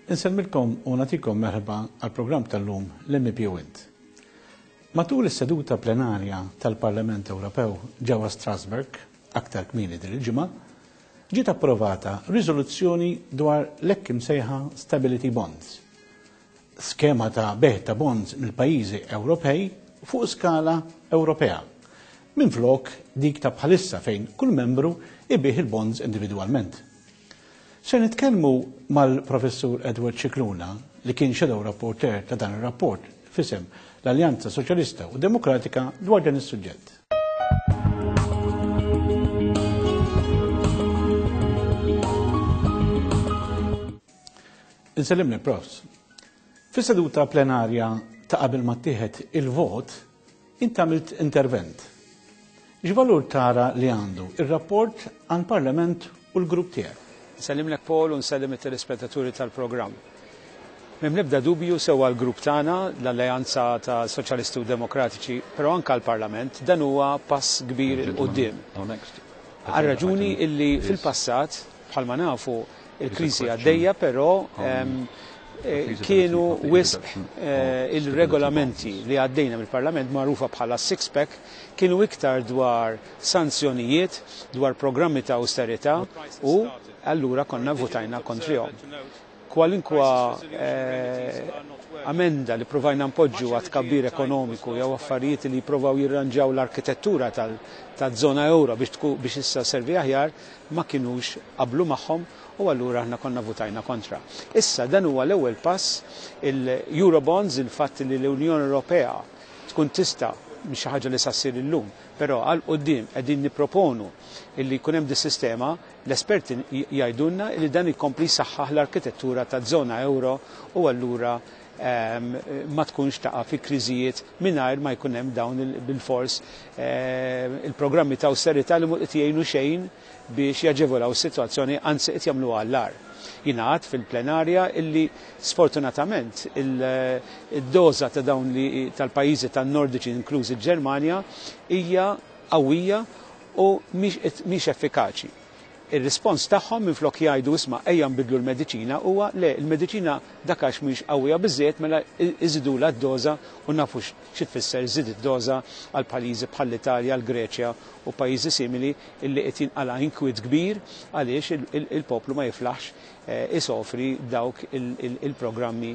Insellmilkom u nagħtikom merħba għall-programm tal-lum l-MEP u Int. Matul is-seduta plenarja tal-Parlament Ewropew ġewwa Strasbourg, aktar kmieni din il-ġimgħa, ġiet approvata riżoluzzjoni dwar l-hekk imsejħa Stability Bonds, skema ta' bejgħ ta' bonds mill-pajjiżi Ewropej fuq skala Ewropea, minflok dik ta' bħalissa fejn kull membru jbigħ il-bonds individwalment. Se nitkellmu mal-Professur Edward Scicluna, li kien Shadow Rapporteur ta' dan ir-rapport f'isem l-Alleanza Soċjalista u Demokratika dwar dan is-suġġett. Insellimlek, Profs. Fis-seduta plenarja ta' qabel ma ttieħed il-vot, int għamilt intervent. X'valur tara li għandu ir-rapport għall-Parlament u l-grupp tiegħek? Nsellimlek Paul u nsellem it-telespettaturi tal-programm. M'hemm l-ebda dubju sew għall-grupp tagħna, l-Alleanza ta' Soċjalisti u Demokratiċi, però anke għall-Parlament, dan huwa pass kbir 'il quddiem. Għar-raġuni illi fil-passat, Bħalma nafu, il-kriżi għaddejja però kienu wisq il-regolamenti li għaddejna mill-Parlament magħrufa bħala six pack kienu iktar dwar sanzjonijiet, dwar programmi ta' awsterità u allura konna votajna kontrihom. Kwalinkwa amenda li provajna npoġġu għat-tkabbir ekonomiku jew affarijiet li jipprovaw jirranġaw l-arkitettura taż-żona ewro biex issa sservi aħjar ma kinux qablu magħhom u allura aħna konna votajna kontra. Issa dan huwa l-ewwel pass, il-Eurobonds, il-fatt li l-Unjoni Ewropea tkun tista' mhix xi ħaġa li sa ssir illum, però għal quddiem qegħdin nipproponu illi jkun hemm dis-sistema, l-esperti jgħidulna li dan ikompli jsaħħaħ l-arkitettura taż-żona ewro u allura ma tkunx taqa' fi kriżijiet mingħajr ma jkun hemm dawn bilfors il-programmi ta' awsterità li mhu qed jgħinu xejn biex jaġevolaw is-sitwazzjoni anzi qed jagħmluha għall-agħar. Jingħad fil-plenarja illi sfortunatament id-doża ta' dawn li tal-pajjiżi tan-Nordiċi inklużi l-Ġermanja hija qawwija u mhix effikaċi. Ir-rispons tagħhom minflok jgħidu isma' ejja nbiddlu l-mediċina huwa le il-mediċina dak għax mhix qawwija biżżejjed mela iżidulha d-doża u nafu xi tfisser żid id-doża għal pajjiżi bħall-Italja, l-Greċja u pajjiżi simili illi qed jinqala' inkwiet kbir għaliex il-poplu ma jiflaħx isofri dawk il-programmi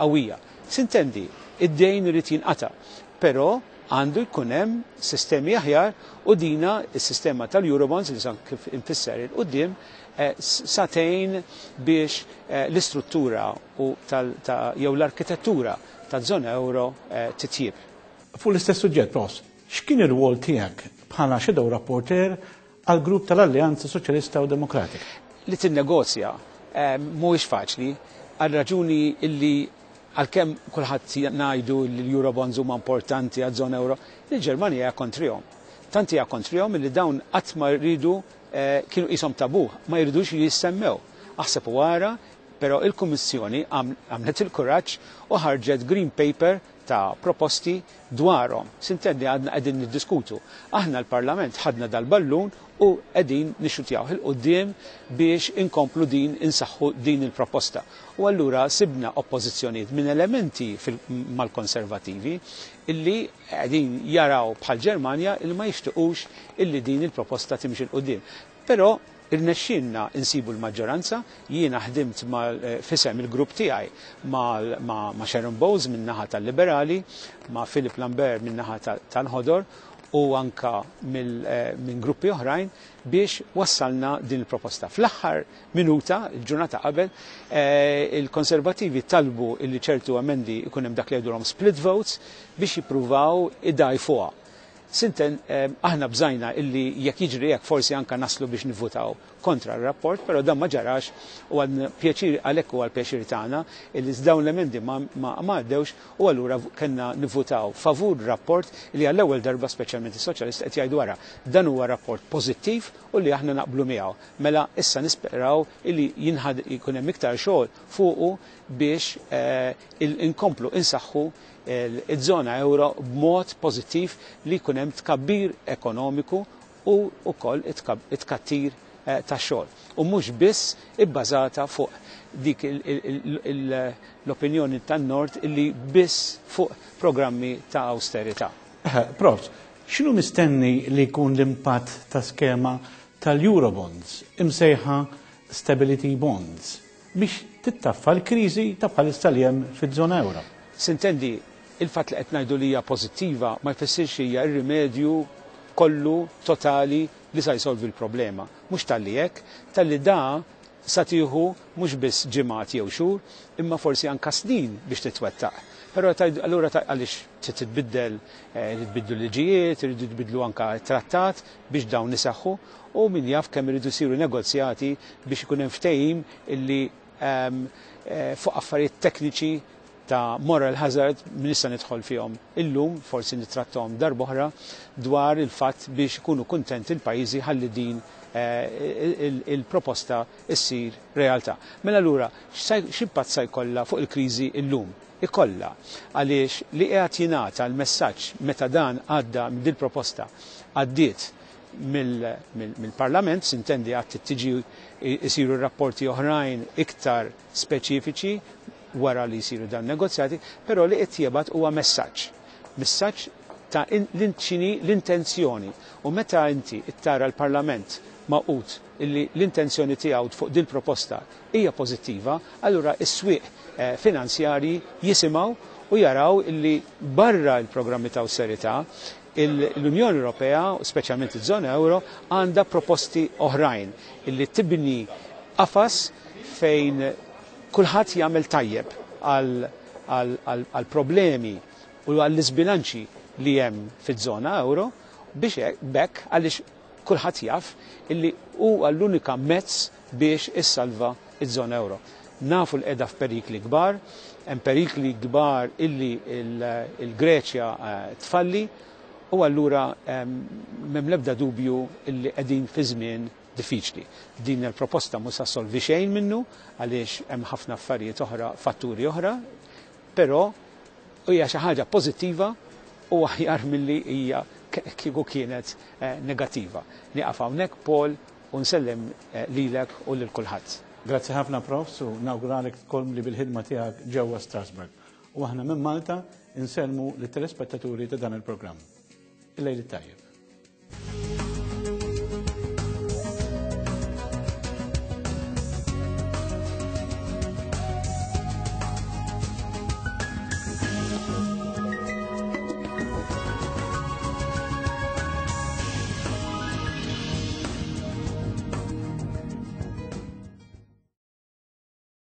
qawwija. Sintendi, id-dejn irid jinqata' però Għandu jkun hemm sistemi aħjar u dina s-sistema tal-Eurobonds li sa kif infisser 'il quddiem sa tgħin biex l-istruttura u jew l-arkitettura taż-żona ewro titjieb. Fuq l-istess suġġett, Ross, x'kien ir-rwol tiegħek bħala Shadow Rapporteur għall-grupp tal-Alleanza Soċjalista u Demokratika? Li tinnegozja mhuwiex faċli għar-raġuni li Għalkemm kulħadd ngħidu li l-Eurobonds huma importanti għaż-żona ewro, il-Ġermanja hija kontrihom. Tant hija kontrihom li dawn qatt ma riedu kienu qishom tabù, ma jridux li jissemmew. Aħseb u ara, però il-Kummissjoni għamlet il-kuraġġ u ħarġet Green Paper ta' proposti dwarhom. Sintendi għadna qegħdin niddiskutu. Aħna l-Parlament ħadna dal-ballun u qegħdin nixxutjawh 'il quddiem biex inkomplu din insaħħu din il-proposta. U allura sibna oppożizzjonijiet minn elementi mal-Konservattivi illi qegħdin jaraw bħall-Ġermanja illi ma jixtiqux illi din il-proposta timxi 'l quddiem. Però irnexxielna nsibu l-maġġoranza, jiena ħdimt f'isem il-grupp tiegħi ma' Sharon Bowles min-naħa tal-Liberali, ma' Philip Lambert min-naħa tal-Ħodor u anke minn gruppi oħrajn biex wassalna din il-proposta. Fl-aħħar minuta, il-ġurnata qabel, il-Konservattivi talbu illi ċertu emendi jkun hemm dak li jgħidulhom split votes biex jippruvaw idgħajfuha. Sinten, aħna bżajna illi jekk jiġri hekk forsi anke naslu biex nivvutaw kontra r-rapport, però dan ma ġarax u għandna pjaċir għalhekk huwa l-pjaċir tagħna illi dawn l-emendi ma ma għaddewx u allura kellna nivvutaw favur rapport li għall-ewwel darba speċjalment is-Soċjalisti qed jgħidu ara dan huwa rapport pożittiv u li aħna naqblu miegħu. Mela issa nisperaw illi jinħad jkun hemm iktar xogħol fuqu biex inkomplu insaħħu iż-żona ewro b'mod pożittiv li jkun hemm tkabbir ekonomiku u wkoll it-tkattir tax-xogħol u mhux biss ibbażata fuq dik l-opinjoni tan-Nord illi biss fuq programmi ta' awsterità. Profs, x'inhu mistenni li jkun l-impatt ta' skema tal-Eurobonds imsejħa Stability Bonds biex tittaffa l-kriżi ta' bħalissa li hemm fiż-żona ewro? Sintendi, il-fatt li qed ngħidu li hija pożittiva ma jfissirx li hija r-rimedju kollu totali li sa jsolvi l-problema. Mhux talli hekk, talli da sa tieħu mhux biss ġimgħat jew xhur, imma forsi anka snin biex titwettaq. Però allura għaliex trid titbiddel, irid tbiddlu liġijiet, iridu jitbiddlu anka t-trattat biex dawn iseħħu u min jaf kemm iridu jsiru negozjati biex ikun hemm ftehim illi fuq affarijiet tekniċi ta' moral hazard m'iniex se nidħol fihom illum, forsi nittrattahom darb'oħra, dwar il-fatt biex ikunu kuntenti l-pajjiżi ħalli din il-proposta ssir realtà. Mela allura x'impatt sa jkollha fuq il-kriżi llum? Ikollha, għaliex li qiegħed jingħata l-messaġġ meta dan għadda dil-proposta għaddiet mill-Parlament, sintendi għad trid tiġi jsiru rapporti oħrajn iktar speċifiċi wara li jsiru dawn negozjati, però li qed jibgħat huwa messaġġ. Messaġġ ta' x'inhi l-intenzjoni. U meta inti tara l-Parlament magħqud illi l-intenzjoni tiegħu fuq din proposta hija pożittiva, allura s-swieq finanzjarji jisimgħu u jaraw illi barra l-programmi ta' awsterità l-Unjoni Ewropea, speċjalment iż-żona euro, għandha proposti oħrajn illi tibni qafas fejn kulħadd jagħmel tajjeb għal problemi u għall-iżbilanċi li hemm fiż-żona euro biex b'hekk għaliex kulħadd jaf illi huwa l-unika mezz biex issalva iż-żona euro. Nafu li qiegħda f'perikli kbar, hemm perikli kbar illi l-Greċja tfalli u allura m'hemm l-ebda dubju illi qegħdin fi żmien diffiċli. Din il-proposta mhux sa ssolvi xejn minnu għaliex hemm ħafna affarijiet oħra, fatturi oħra, però hija xi ħaġa pożittiva u aħjar milli hija kieku kienet negattiva. Nieqaf hawnhekk Paul u nsellem lilek u lil kulħadd. Grazzi ħafna Profs u nawguralek tkompli bil-ħidma tiegħek ġewwa Strasbourg. U aħna minn Malta insellmu lit-telespettaturi ta' dan il-programm. Il-lejl it-tajjeb.